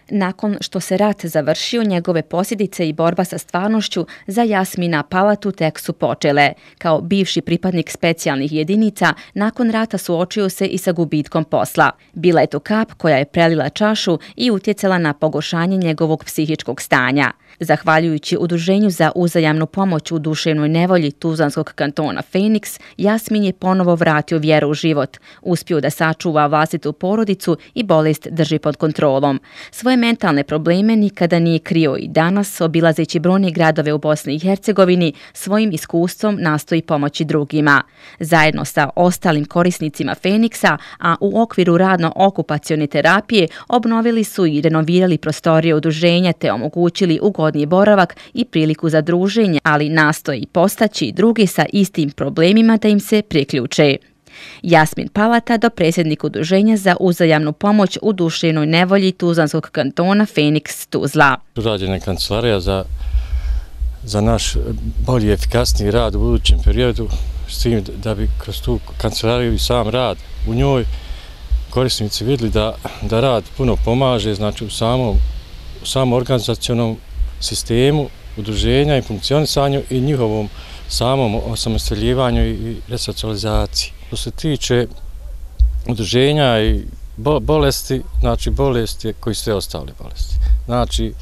Nakon što se rat završio, njegove posljedice i borba sa stvarnošću za Jasmina Palatu tek su počele. Kao bivši pripadnik specijalnih jedinica, nakon rata suočio se i sa gubitkom posla. Bila je to kap koja je prelila čašu i utjecala na pogoršanje njegovog psihičkog stanja. Zahvaljujući Udruženju za uzajamnu pomoć u duševnoj nevolji Tuzlanskog kantona Phoenix, Jasmin je ponovo vratio vjeru u život, uspio da sačuva vlastitu porodicu i bolest drži pod kontrolom. Svoje mentalne probleme nikada nije krio i danas, obilazeći brojne gradove u Bosni i Hercegovini, svojim iskustvom nastoji pomoći drugima. Zajedno sa ostalim korisnicima Phoenixa, a u okviru radno-okupacione terapije, obnovili su i renovirali prostorije udruženja te omogućili ugodniji boravak i priliku za druženje, ali nastoji postaći drugi sa istim problemima da im se priključe. Jasmin Palata, dopredsjednik Udruženja za uzajamnu pomoć u duševnoj nevolji Tuzlanskog kantona Phoenix Tuzla. Urađena je kancelarija za naš bolji i efikasniji rad u budućem periodu, s tim da bi kroz tu kancelariju i sam rad u njoj korisnici vidjeli da rad puno pomaže, znači u samom organizacionom sistemu udruženja i funkcionisanju i njihovom samom osamostaljivanju i resocijalizaciji. Što se tiče udruženja i bolesti, znači bolesti koji sve ostale bolesti. Znači,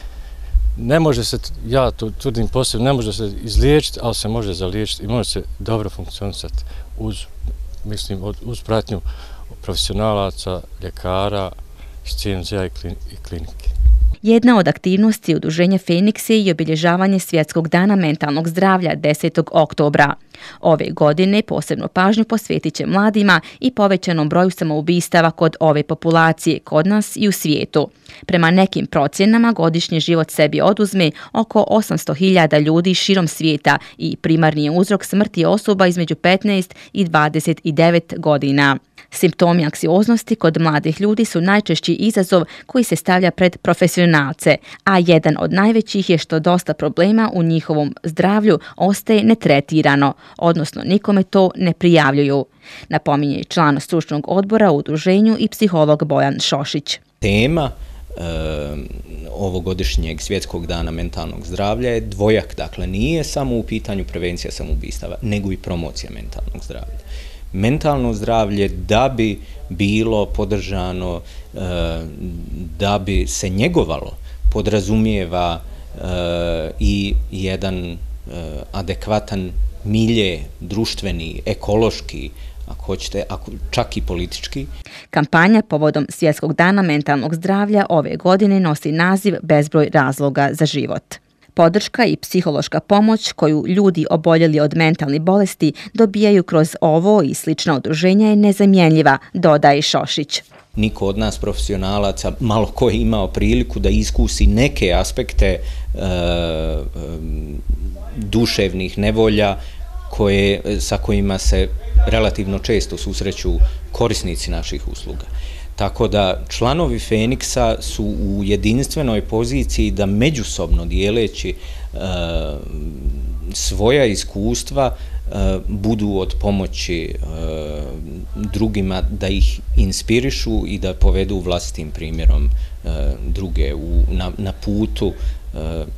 ne može se, ja to tvrdim posebno, ne može se izliječiti, ali se može zaliječiti i može se dobro funkcionisati uz pratnju profesionalaca, ljekara, CNZ-a i klinike. Jedna od aktivnosti Udruženja Phoenix je i obilježavanje Svjetskog dana mentalnog zdravlja 10. oktobra. Ove godine posebnu pažnju posvetit će mladima i povećanom broju samoubistava kod ove populacije, kod nas i u svijetu. Prema nekim procjenama godišnji život sebi oduzme oko 800.000 ljudi širom svijeta i primarni je uzrok smrti osoba između 15 i 29 godina. Simptomi anksioznosti kod mladih ljudi su najčešći izazov koji se stavlja pred profesionalce, a jedan od najvećih je što dosta problema u njihovom zdravlju ostaje netretirano, odnosno nikome to ne prijavljuju. Napominje i član stručnog odbora u udruženju i psiholog Bojan Šošić. Tema ovogodišnjeg Svjetskog dana mentalnog zdravlja je dvojak, dakle nije samo u pitanju prevencija samoubistava, nego i promocija mentalnog zdravlja. Mentalno zdravlje, da bi bilo podržano, da bi se njegovalo, podrazumijeva i jedan adekvatan milje, društveni, ekološki, ako hoćete, čak i politički. Kampanja povodom Svjetskog dana mentalnog zdravlja ove godine nosi naziv Bezbroj razloga za život. Podrška i psihološka pomoć koju ljudi oboljeli od mentalnih bolesti dobijaju kroz ovo i slična udruženja je nezamjenjiva, dodaje Šošić. Niko od nas profesionalaca, malo ko je imao priliku da iskusi neke aspekte duševnih nevolja sa kojima se relativno često susreću korisnici naših usluga. Tako da članovi Phoenixa su u jedinstvenoj poziciji da međusobno dijeleći svoja iskustva budu od pomoći drugima, da ih inspirišu i da povedu vlastitim primjerom druge na putu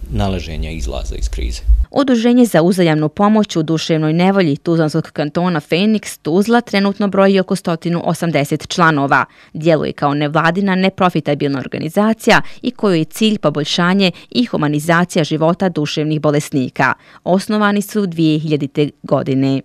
nalaženja izlaza iz krize. Udruženje za uzajamnu pomoć u duševnoj nevolji Tuzlanskog kantona Phoenix Tuzla trenutno broji oko 180 članova. Djeluje kao nevladina neprofitabilna organizacija i kojoj je cilj poboljšanje i humanizacija života duševnih bolesnika. Osnovani su 2000. godine.